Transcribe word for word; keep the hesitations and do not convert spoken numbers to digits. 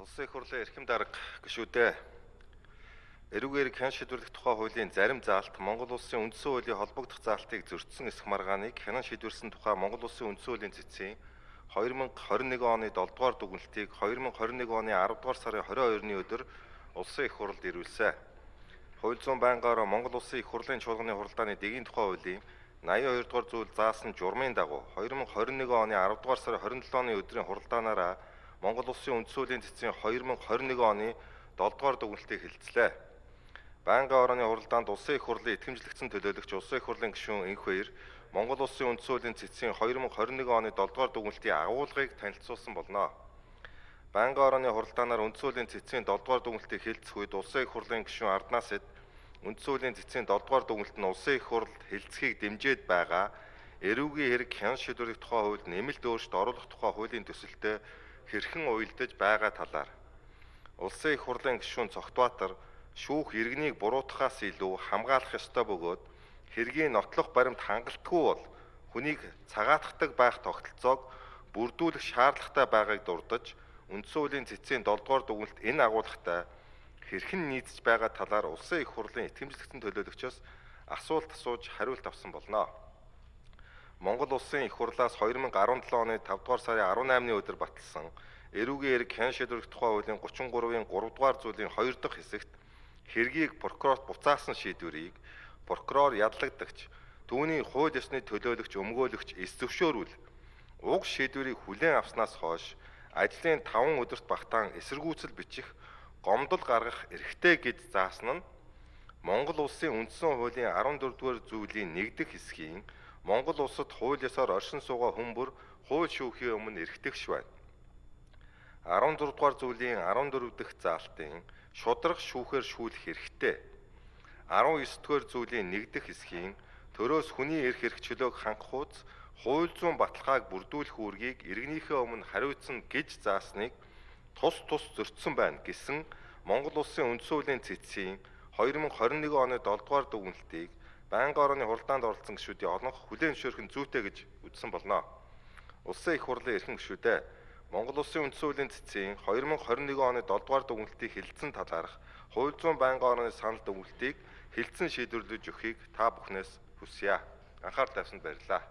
Улсын их хурлын эрхэм дарга гишүүдээ эрүүгээр хэн шийдвэрлэх тухай хуулийн зарим заалт Монгол улсын үндсэн хуулийн холбогдох заалтыг зөрчсөн эсэх маргааныг хянан шийдвэрсэн тухай Монгол улсын үндсэн хуулийн цэцгийн хоёр мянга хорин нэгэн оны долдугаар дүгнэлтийг хоёр мянга хорин нэгэн оны аравдугаар сарын хорин хоёрны өдөр улсын их хурлд ирүүлсэн. Хууль зүйн байнгаараа Монгол улсын их хурлын чуулганы хуралдааны дэгийн тухай хуулийн найман хоёр дугаар зүйл заасан журмын дагуу хоёр мянга хорин нэгэн оны аравдугаар сарын хорин долооны өдрийн хуралдаанаараа Монгол улсын үндсэн хуулийн цэцгийн хоёр мянга хорин нэгэн оны долдугаар дүгнэлтийг хэлэлцлээ. Байнгын орооны хуралдаанд улсын их хурлын итгэмжлэгдсэн төлөөлөгч улсын их хурлын гишүүн Энх баяр Монгол улсын үндсэн хуулийн цэцгийн хоёр мянга хорин нэгэн оны долдугаар дүгнэлтийн агуулгыг танилцуулсан болно. Байнгын орооны хуралдаанаар үндсэн хуулийн цэцгийн долдугаар дүгнэлтийг хэлэлцэх үед улсын их хурлын гишүүн Арднаас эд үндсэн хуулийн цэцгийн долдугаар дүгнэлт нь улсын их хурлд хэлэлцэхийг дэмжиж байгаа эрүүгийн хэрэг хян шийдвэрлэх тухай хуульд нэмэлт өөрчлөлт оруулах тухай хуулийн төсөлтөд хэрхэн уялдаж байгаа талаар улсын их хурлын гишүүн Цогтбаатар шүүх иргэнийг буруутгахаас илүү хамгаалах ёстой бөгөөд хэргийн нотлох баримт хангалтгүй бол хүнийг цагаатгадаг байх тогтолцоог бүрдүүлэх шаардлагатай байгааг дурдж үндсэн хуулийн цэцгийн долдугаар дүгнэлт энэ агуулгатай хэрхэн нийцэж байгаа талаар улсын их хурлын итгэмжлэгдсэн төлөөлөгчөөс асуулт асууж хариулт авсан болно. Монгол улсын их хурлаас хоёр мянга арван долоо оны тавдугаар сарын арван наймны өдөр баталсан эрүүгийн хэрэг хян шийдвэрлэх тухай хуулийн гучин гурвын гуравдугаар зүйлийн хоёр дахь хэсэгт хэргийг прокурорт буцаасан шийдвэрийг прокурор ядлагдагч түүний хууль ёсны төлөөлөгч өмгөөлөгч эс зөвшөөрүүл уг шийдвэрийг хүлээн авснаас хойш ажлын таван өдөрт багтаан эсэргүүцэл бичих гомдол гаргах эрхтэй гэж заасан нь Монгол улсын үндсэн хуулийн арван дөрөвдүгээр зүйлийн нэг дэх хэсгийн Монгол улсад хууль ёсоор оршин суугаа хүмүүр хууль шүүхийн өмнө эрхтэгш байна. арван дөрөв дугаар зүйлийн арван дөрөв дахь заалтын шударга шүүхээр шүүлэх хэрэгтэй. арван ёс дугаар зүйлийн нэг дэх хэсгийн төрөөс хүний эрх хэрэгчлөөг хангах хууц хууль зүйн баталгааг бүрдүүлэх үүргийг иргэнийхээ өмнө хариуцсан гэж заасныг тус тус зөрчсөн байна гэсэн Монгол улсын үндсэн хуулийн цэцгийн хоёр мянга хорин нэгэн оны долдугаар дүгнэлтийг байнгын орооны хуралдаанд оролцсон гишүүдийн олонх хүлээн зөвшөөрөх нь зүйтэй гэж үзсэн болно. Улсын их хурлын эрхэм гишүүдээ Монгол улсын үндсэн хуулийн цэцгийн хоёр мянга хорин нэгэн оны долдугаар дүгнэлтийг хэлэлцэн талаарх хууль зүйн байнгын орооны санал дүгнэлтийг хэлэлцэн шийдвэрлэж өгөхийг та бүхнээс хүсье. Анхаарал тавьсанд баярлалаа.